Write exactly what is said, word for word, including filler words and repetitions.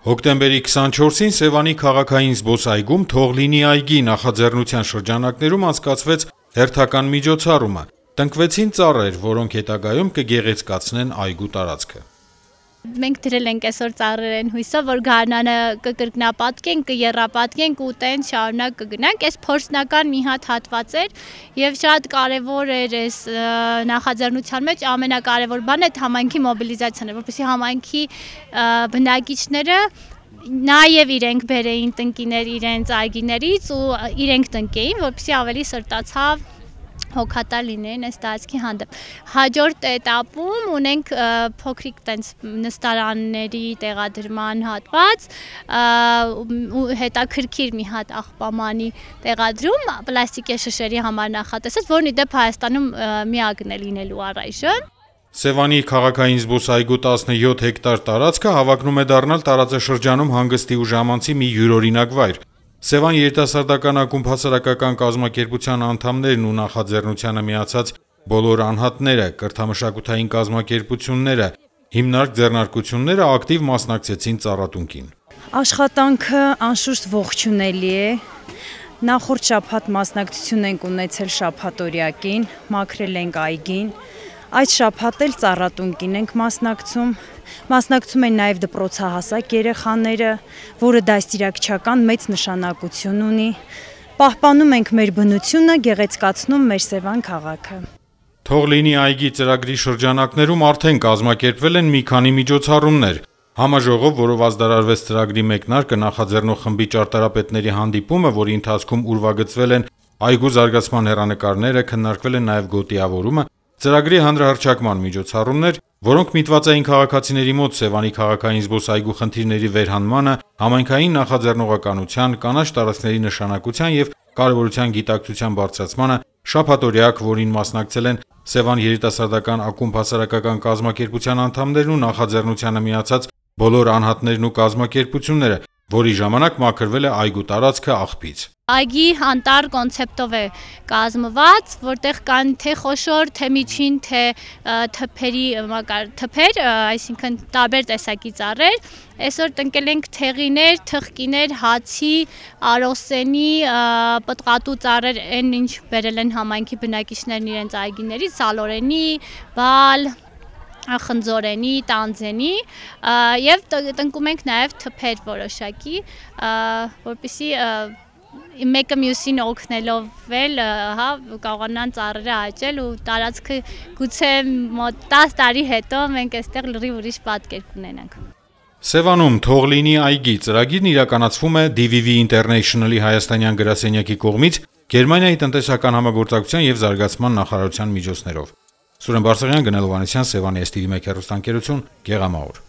Հոկտեմբերի քսանչորսին Սևանի քաղաքային զբոսայգում «Թող լինի այգի» նախաձեռնության շրջանակներում անցկացվեց հերթական միջոցառումը։ Տնկվեցին ծառեր, որոնք հետագայում կգեղեցկացնեն այգու տարածքը։ Մենք դրել ենք այսօր ծառերեն հույսով, որ գարնանը կկրկնապատկենք, կեռապատկենք ու տենց շարունակ կգնանք։ Այս փորձնական մի հատ հատված էր եւ շատ կարեւոր էր այս նախաձեռնության մեջ ամենակարևոր բանը այդ համայնքի մոբիլիզացիան է, որպեսզի համայնքի բնակիչները նաև իրենք բերեին տնկիներ իրենց այգիներից ու իրենք տնկեին, որպեսզի ավելի սրտացավ հոգատար լինեին այս տարածքի հանդեպ։ Հաջորդ էտապում ունենք փոքրիկ տենց նստարանների տեղադրման հատված, հետաքրքիր մի հատ աղբամանի տեղադրում պլաստիկե շշերի համար նախատեսած, որն ի դեպ Հայաստանում միակն է լինելու առայժմ։ Սևանի քաղաքային զբոսայգու տասնյոթ հեկտար տարածքը հավակնում է դառնալ տարածաշրջանում հանգստի ու ժամանցի մի յուրօրինակ վայր։ Սևան երիտասարդական ակումբ հասարակական կազմակերպության անդամներն ու նախաձեռնությանը միացած բոլոր անհատները, կրթամշակութային կազմակերպությունները, հիմնարկ ձեռնարկությունները ակտիվ մասնակցեցին ծառատունկին։ Աշխատանքը անշուշտ ողջունելի է։ Նախորդ շաբաթ մասնակցություն ենք ունեցել շաբաթօրյակին, մաքրել ենք այգին։ Այս շաբաթ էլ ծառատունկին ենք մասնակցում։ Մասնակցում են նաև դպրոցահասակ երեխաները, որը դաստիարակչական մեծ նշանակություն ունի։ Պահպանում ենք մեր բնությունը, գեղեցկացնում մեր Սևան քաղաքը։ Թող լինի այգի ծրագրի շրջանակներում արդեն կազմակերպվել են մի քանի միջոցառումներ։ Համաժողով, որով ազդարարվեց ծրագրի մեկնարկը, նախաձեռնող խմբի ճարտարապետների հանդիպումը, որի ընթացքում ուրվագծվել են այգու զարգացման հեռանկարները, քննարկվել են նաև գոտիավորումը, ծրագրի հանրահռչակման միջոցառումներ, որոնք միտված էին քաղաքացիների մոտ Սևանի քաղաքային զբոսայգու խնդիրների վերհանմանը, համայնքային նախաձեռնողականության, կանաչ տարածքների նշանակության եւ կարեւորության գիտակցության բարձրացմանը, շաբաթօրյակ, որին մասնակցել են Սևան երիտասարդական ակումբ հասարակական կազմակերպության անդամներն ու նախաձեռնությանը միացած բոլոր անհատներն ու կազմակերպությունները, որի ժամանակ մաքրվել է այգու տարածքը աղբից։ Այգի անտառ կոնցեպտով է կազմված, որտեղ կան թե խոշոր, թե միջին, թե թփերի թփեր, այսինքն տարբեր տեսակի ծառեր։ Այսօր տնկել ենք թեղիներ, թխկիներ, հացի, արոսենի, պտղատու ծառեր, այն ինչ բերել են համայնքի բնակիչներն իրենց այգիներից, սալորենի, բալ, խնձորենի, տանձենի եւ տնկում ենք նաեւ թփեր որոշակի, որպեսզի մեկը մյուսին օգնելով էլ հա կարողանան ծառերը աճել ու տարածքը գուցե մոտ տասը տարի հետո մենք այստեղ լրիվ ուրիշ պատկեր կունենանք։ Սևանում «Թող լինի այգի» ծրագիրն իրականացվում է դի վի վի International-ի հայաստանյան գրասենյակի կողմից Գերմանիայի տնտեսական համագործակցության եւ զարգացման նախարարության միջոցներով։ Սուրեն Բարսեղյան, Գնել Հովհաննիսյան, Սևանի էս թի վի մեկ հեռուստաընկերություն, Գեղամահոր։